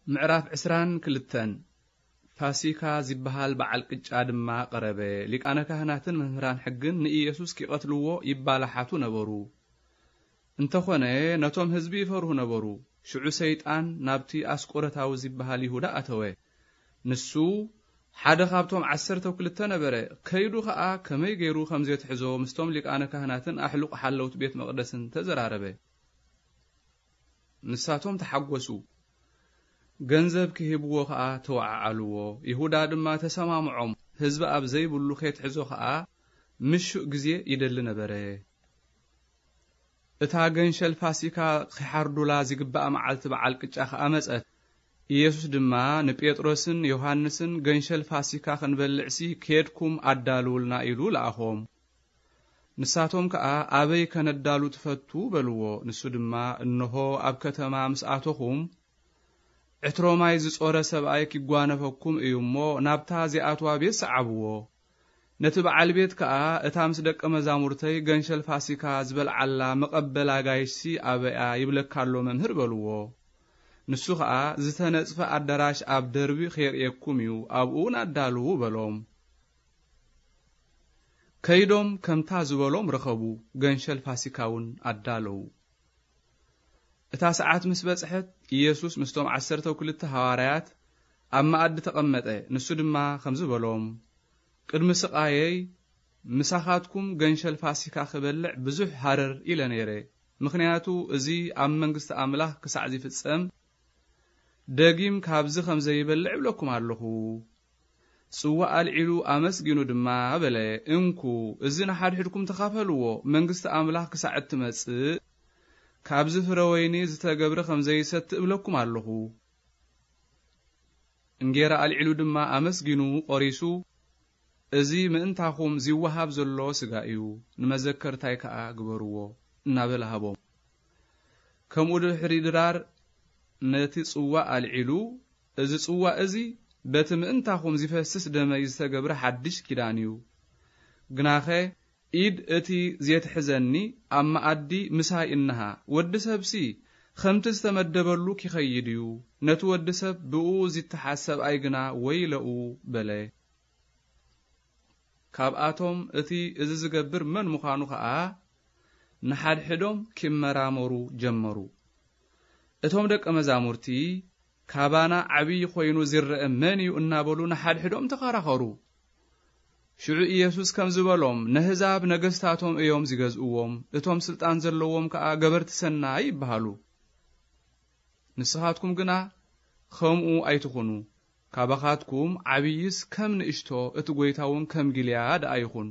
ምዕራፍ ዕስራን ክልተን። ፋሲካ ዝበሃል በዓል ቅጫ ድማ ቀረበ። ሊቃነ ካህናትን መምህራን ሕግን ንኢየሱስ ኪቐትልዎ ይባላሓቱ ነበሩ። እንተኾነ ነቶም ህዝቢ ይፈርሁ ነበሩ። ሽዑ ሰይጣን ናብቲ ኣስቆረታዊ ዝበሃል ይሁዳ ኣተወ። ንሱ ሓደ ካብቶም ዓሰርተው ክልተ ነበረ። ከይዱ ኸኣ ከመይ ገይሩ ከም ዜትሕዞ ምስቶም ሊቃነ ካህናትን ኣሕሉቕ ሓለውት ቤት መቕደስን ተዘራረበ። ንሳቶም ተሓጎሱ። ገንዘብ ክህብዎ ኸኣ ተወዓዓልዎ። ይሁዳ ድማ ተሰማምዖም። ህዝቢ ኣብ ዘይብሉ ኬትሕዞ ኸኣ ምሹእ ግዜ ይደሊ ነበረ። እታ ገንሸል ፋሲካ ኺሓርዱላ ዚግባእ መዓልቲ በዓል ቅጫ ኸኣ መጸት። ኢየሱስ ድማ ንጴጥሮስን ዮሃንስን፣ "ገንሸል ፋሲካ ኽንበልዕሲ ኬድኩም ኣዳልውልና" ኢሉ ለኣኾም። ንሳቶም ከኣ፣ "ኣበይ ከነዳሉ ትፈቱ?" በልዎ። ንሱ ድማ፣ "እንሆ ኣብ ከተማ ምስ ኣተኹም፣ ዕትሮ ማይ ዝጾረ ሰብኣይ ኪጓነፈኩም እዩ እሞ፣ ናብታ ዚኣትዋ ቤት ሰዓብዎ። ነቲ በዓል ቤት ከኣ፣ እታ ምስ ደቀ መዛሙርተይ ገንሸል ፋሲካ ዝበልዓላ መቐበል ኣጋይሽሲ ኣበይ እያ ይብለካ ኣሎ መምህር" በልዎ። ንሱ ኸኣ፣ "ዝተነጽፈ ኣዳራሽ ኣብ ደርቢ ኼርእየኩም እዩ፣ ኣብኡ እውን ኣዳልዉ" በሎም። ከይዶም ከምታ ዝበሎም ረኸቡ፣ ገንሸል ፋሲካ እውን ኣዳለዉ። እታ ሰዓት ምስ በጽሐት፣ ኢየሱስ ምስቶም ዓሰርተው ክልተ ሃዋርያት ኣብ መኣዲ ተቐመጠ። ንሱ ድማ ከምዚ በሎም፣ "ቅድሚ ስቓየይ ምሳኻትኩም ገንሸል ፋሲካ ክበልዕ ብዙሕ ሃረር ኢለ ነይረ፣ ምኽንያቱ እዚ ኣብ መንግስቲ ኣምላኽ ክሳዕ ዚፍጸም፣ ደጊም ካብዚ ከም ዘይበልዕ እብለኩም ኣለኹ።" ጽዋእ ኣልዒሉ ኣመስጊኑ ድማ በለ፣ "እንኩ፣ እዚ ንሓድሕድኩም ተኻፈልዎ፣ መንግስቲ ኣምላኽ ክሳዕ እትመጽእ፣ ካብዚ ፍረ ወይኒ ዝተገብረ ከም ዘይሰቲ እብለኩም ኣለኹ።" እንጌራ ኣልዒሉ ድማ ኣመስጊኑ ቆሪሱ፣ "እዚ ምእንታኹም ዚወሃብ ዘሎ ስጋ እዩ፣ ንመዘከርታይ ከኣ ግበርዎ" እናበለ ሃቦም። ከምኡ ድሕሪ ድራር ነቲ ጽዋእ ኣልዒሉ፣ "እዚ ጽዋእ እዚ በቲ ምእንታኹም ዚፈስስ ደመይ ዝተገብረ ሓድሽ ኪዳን እዩ። ግናኸ ኢድ እቲ ዜትሕዘኒ ኣብ መኣዲ ምሳይ እንሃ። ወዲ ሰብሲ ከምቲ ዝተመደበሉ ኪኸይድ እዩ። ነቲ ወዲ ሰብ ብእኡ ዚተሓዝ ሰብኣይ ግና ወይለኡ" በለ። ካብኣቶም እቲ እዚ ዝገብር መን ምዃኑ ኸኣ ንሓድሕዶም ኪመራመሩ ጀመሩ። እቶም ደቀ መዛሙርቲ፣ "ካባና ዓብዪ ኾይኑ ዚረአ መን እዩ?" እናበሉ ንሓድሕዶም ተኸራኸሩ። ሽዑ ኢየሱስ ከምዚ በሎም፣ "ነህዛብ ነገስታቶም እዮም ዚገዝእዎም፣ እቶም ስልጣን ዘለዎም ከኣ ገበርቲ ሰናይ ይበሃሉ። ንስኻትኩም ግና ኸምኡ ኣይትኹኑ። ካባኻትኩም ዓብይስ ከም ንእሽቶ፣ እቲ ጐይታ እውን ከም ጊልያ ደኣ ይኹን።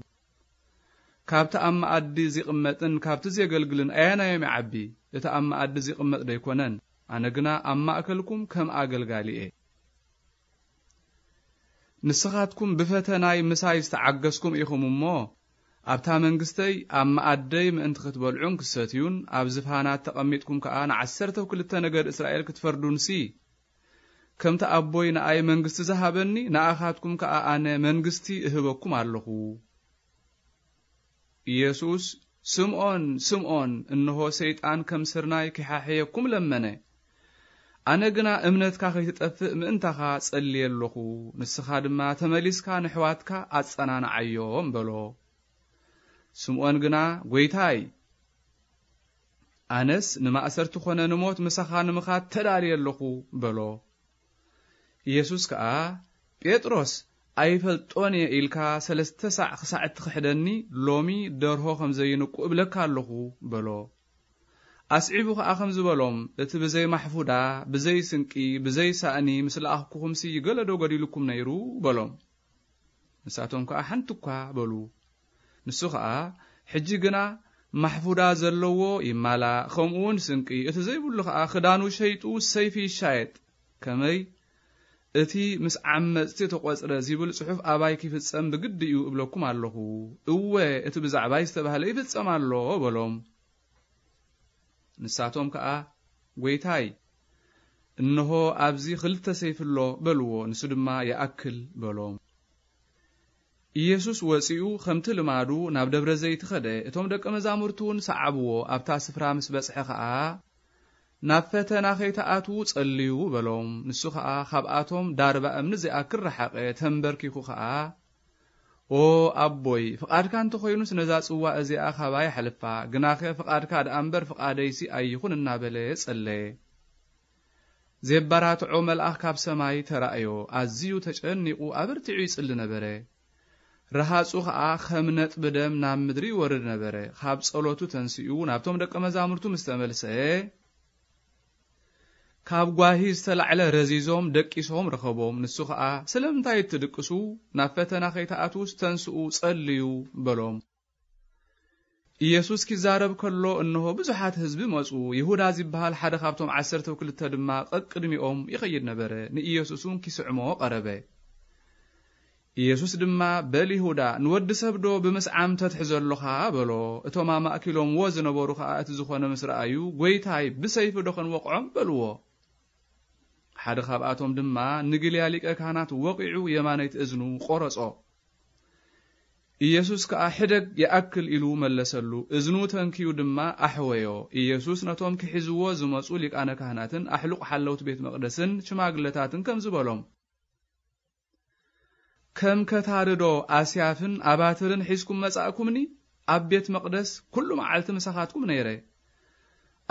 ካብቲ ኣብ መኣዲ ዚቕመጥን ካብቲ ዜገልግልን ኣየናዮም ይዓቢ? እቲ ኣብ መኣዲ ዚቕመጥ ዶ ኣይኮነን? ኣነ ግና ኣብ ማእከልኩም ከም ኣገልጋሊ እየ። ንስኻትኩም ብፈተናይ ምሳይ ዝተዓገስኩም ኢኹም እሞ፣ ኣብታ መንግስተይ ኣብ መኣደይ ምእንቲ ክትበልዑን ክትሰትዩን፣ ኣብ ዝፋናት ተቐሚጥኩም ከኣ ንዓሰርተው ክልተ ነገድ እስራኤል ክትፈርዱንሲ፣ ከምቲ ኣቦይ ንኣይ መንግስቲ ዝሃበኒ፣ ንኣኻትኩም ከኣ ኣነ መንግስቲ እህበኩም ኣለኹ። ኢየሱስ፣ "ስምዖን፣ ስምዖን፣ እንሆ ሰይጣን ከም ስርናይ ኪሓሕየኩም ለመነ። ኣነ ግና እምነትካ ከይትጠፍእ ምእንታኻ ጸልየ ኣለኹ። ንስኻ ድማ ተመሊስካ ንሕዋትካ ኣጸናንዓዮም" በሎ። ስምዖን ግና፣ "ጐይታይ፣ ኣነስ ንማእሰርቲ ኾነ ንሞት ምሳኻ ንምኻድ ተዳልየ ኣለኹ" በሎ። ኢየሱስ ከኣ፣ "ጴጥሮስ፣ ኣይፈልጦን እየ ኢልካ ሰለስተ ሳዕ ክሳዕ እትኽሕደኒ፣ ሎሚ ደርሆ ከም ዘይንቁ እብለካ ኣለኹ" በሎ። ኣስዒቡ ኸኣ ከምዚ በሎም፣ "እቲ ብዘይ ማሕፉዳ፣ ብዘይ ስንቂ፣ ብዘይ ሳእኒ ምስ ለኣኽኩኹምሲ፣ ገለ ዶ ጐዲሉኩም ነይሩ?" በሎም። ንሳቶም ከኣ፣ "ሓንቲ እኳ" በሉ። ንሱ ኸኣ፣ "ሕጂ ግና ማሕፉዳ ዘለዎ ይማላእ፣ ከምኡ እውን ስንቂ፣ እቲ ዘይብሉ ኸኣ ክዳኑ ሸይጡ ሰይፊ ይሻየጥ፣ ከመይ እቲ ምስ ዓመጽቲ ተቖጽረ ዚብል ጽሑፍ ኣባይ ኪፍጸም ብግዲ እዩ እብለኩም ኣለኹ። እወ፣ እቲ ብዛዕባይ ዝተባህለ ይፍጸም ኣሎ" በሎም። ንሳቶም ከኣ፣ "ጐይታይ፣ እንሆ ኣብዚ ክልተ ሰይፊ ኣሎ" በልዎ። ንሱ ድማ፣ "ይኣክል" በሎም። ኢየሱስ ወጺኡ ኸምቲ ልማዱ ናብ ደብረ ዘይት ኸደ። እቶም ደቀ መዛሙርቱ እውን ሰዓብዎ። ኣብታ ስፍራ ምስ በጽሐ ኸኣ፣ ናብ ፈተና ከይትኣትዉ ጸልዩ በሎም። ንሱ ኸኣ ካብኣቶም ዳርባ እምኒ ዘይኣክል ረሓቐ፣ ተንበርኪኹ ኸኣ፣ "ኦ ኣቦይ፣ ፍቓድካ እንተኾይኑስ ነዛ ጽዋ እዚኣ ኻባይ ኣሕልፋ፣ ግናኸ ፍቓድካ ደኣ እምበር ፍቓደይሲ ኣይኹን" እናበለ ጸለየ። ዜባራትዖ መልኣኽ ካብ ሰማይ ተራእዮ፣ ኣዝዩ ተጨኒቑ ኣበርቲዑ ይጽሊ ነበረ። ረሃጹ ኸኣ ኸም ነጥቢ ደም ናብ ምድሪ ይወርድ ነበረ። ካብ ጸሎቱ ተንሲኡ ናብቶም ደቀ መዛሙርቱ ምስ ተመልሰ፣ ካብ ጓሂ ዝተላዕለ ረዚዞም ደቂሶም ረኸቦም። ንሱ ኸኣ፣ "ስለምንታይ እትድቅሱ? ናብ ፈተና ከይትኣትዉስ ተንስኡ፣ ጸልዩ" በሎም። ኢየሱስ ኪዛረብ ከሎ፣ እንሆ ብዙሓት ህዝቢ መጹ። ይሁዳ ዚበሃል ሓደ ካብቶም ዓሰርተው ክልተ ድማ ቀቅድሚኦም ይኸይድ ነበረ። ንኢየሱስ እውን ኪስዕሞ ቀረበ። ኢየሱስ ድማ፣ "በል ይሁዳ፣ ንወዲ ሰብዶ ብምስዓም ተትሕዞ ኣሎኻ?" በሎ። እቶም ኣማእኪሎምዎ ዝነበሩ ኸኣ እቲ ዝኾነ ምስ ረኣዩ፣ "ጐይታይ፣ ብሰይፊዶ ኸንወቕዖም?" በልዎ። ሓደ ኻብኣቶም ድማ ንግልያ ሊቀ ካህናት ወቒዑ የማነይቲ እዝኑ ቈረጾ። ኢየሱስ ከኣ፣ "ሕደግ ይኣክል" ኢሉ መለሰሉ። እዝኑ ተንክዩ ድማ ኣሕወዮ። ኢየሱስ ነቶም ክሕዝዎ ዝመጹ ሊቃነ ካህናትን ኣሕሉቕ ሓለውቲ ቤት መቕደስን ሽማግለታትን ከምዚ በሎም፣ "ከም ከታርዶ ኣስያፍን ኣባትርን ሒዝኩም መጻእኩምኒ? ኣብ ቤት መቕደስ ኩሉ መዓልቲ ምሳኻትኩም ነይረ።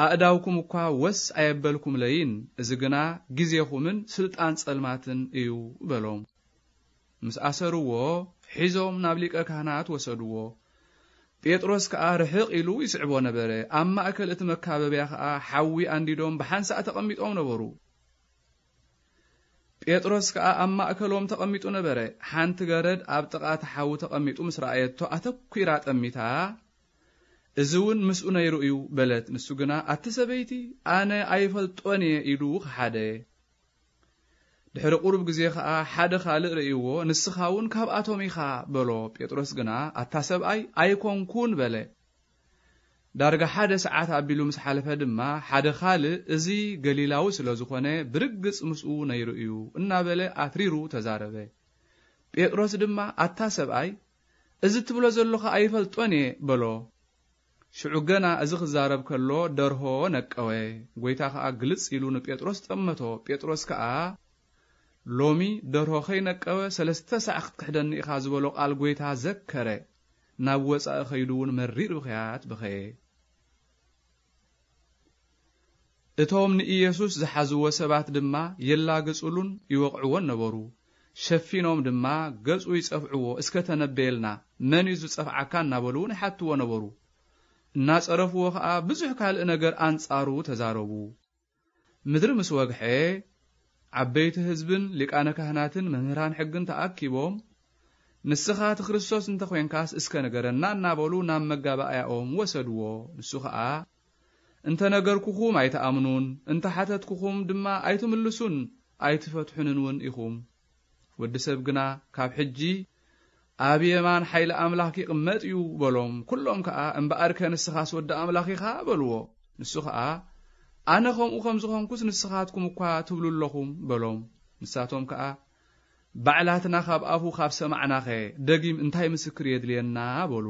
ኣእዳውኩም እኳ ወስ ኣየበልኩምለይን፣ እዚ ግና ግዜኹምን ስልጣን ጸልማትን እዩ" በሎም። ምስ ኣሰርዎ፣ ሒዞም ናብ ሊቀ ካህናት ወሰድዎ። ጴጥሮስ ከኣ ርሕቕ ኢሉ ይስዕቦ ነበረ። ኣብ ማእከል እቲ መካበብያ ከኣ ሓዊ ኣንዲዶም ብሓንሳእ ተቐሚጦም ነበሩ። ጴጥሮስ ከኣ ኣብ ማእከሎም ተቐሚጡ ነበረ። ሓንቲ ገረድ ኣብ ጥቓ እቲ ሓዊ ተቐሚጡ ምስ ረኣየቶ፣ ኣተኲራ ጠሚታ፣ "እዚ እውን ምስኡ ነይሩ እዩ" በለት። ንሱ ግና፣ "ኣቲ ሰበይቲ፣ ኣነ ኣይፈልጦን እየ" ኢሉ ከሓደ። ድሕሪ ቁሩብ ግዜ ኸኣ ሓደ ካልእ ርእይዎ፣ "ንስኻ እውን ካብኣቶም ኢኻ" በሎ። ጴጥሮስ ግና፣ "ኣታ ሰብኣይ፣ ኣይኮንኩን" በለ። ዳርጋ ሓደ ሰዓት ኣቢሉ ምስ ሓለፈ ድማ፣ ሓደ ካልእ፣ "እዚ ገሊላዊ ስለ ዝኾነ፣ ብርግጽ ምስኡ ነይሩ እዩ" እናበለ ኣትሪሩ ተዛረበ። ጴጥሮስ ድማ፣ "ኣታ ሰብኣይ፣ እዚ እትብሎ ዘሎኻ ኣይፈልጦን እየ" በሎ። ሽዑ ገና እዚ ክዛረብ ከሎ፣ ደርሆ ነቀወ። ጐይታ ኸኣ ግልጽ ኢሉ ንጴጥሮስ ጠመቶ። ጴጥሮስ ከኣ፣ "ሎሚ ደርሆ ኸይነቀወ ሰለስተ ሳዕ ክትክሕደኒ ኢኻ" ዝበሎ ቃል ጐይታ ዘከረ። ናብ ወጻኢ ኸይዱ እውን መሪር ብኽያት በኸየ። እቶም ንኢየሱስ ዝሓዝዎ ሰባት ድማ የላግጹሉን ይወቕዕዎን ነበሩ። ሸፊኖም ድማ፣ "ገጹ ይጸፍዕዎ፣ እስከ ተነበየልና፣ መን እዩ ዝጸፍዓካ?" እናበሉ እውን ይሓትዎ ነበሩ። እናጸረፍዎ ኸኣ ብዙሕ ካልእ ነገር ኣንጻሩ ተዛረቡ። ምድሪ ምስ ወግሐ፣ ዓበይቲ ህዝብን ሊቃነ ካህናትን መምህራን ሕግን ተኣኪቦም፣ "ንስኻ እቲ ክርስቶስ እንተ ኾይንካስ እስከ ንገረና" እናበሉ ናብ መጋባእያኦም ወሰድዎ። ንሱ ኸኣ፣ "እንተ ነገርኩኹም ኣይትኣምኑን፣ እንተ ሓተትኩኹም ድማ ኣይትምልሱን፣ ኣይትፈትሑንን እውን ኢኹም። ወዲ ሰብ ግና ካብ ሕጂ ኣብ የማን ሓይሊ ኣምላኽ ይቕመጥ እዩ" በሎም። ኩሎም ከኣ፣ "እምበኣርከ ንስኻስ ወዲ ኣምላኽ ኢኻ" በልዎ። ንሱ ኸኣ፣ "ኣነ ከምኡ ከም ዝኾንኩስ ንስኻትኩም እኳ ትብሉ ኣለኹም" በሎም። ንሳቶም ከኣ፣ "ባዕላትና ካብ ኣፉ ካብ ሰማዕናኸ፣ ደጊም እንታይ ምስክር የድልየና?" በሉ።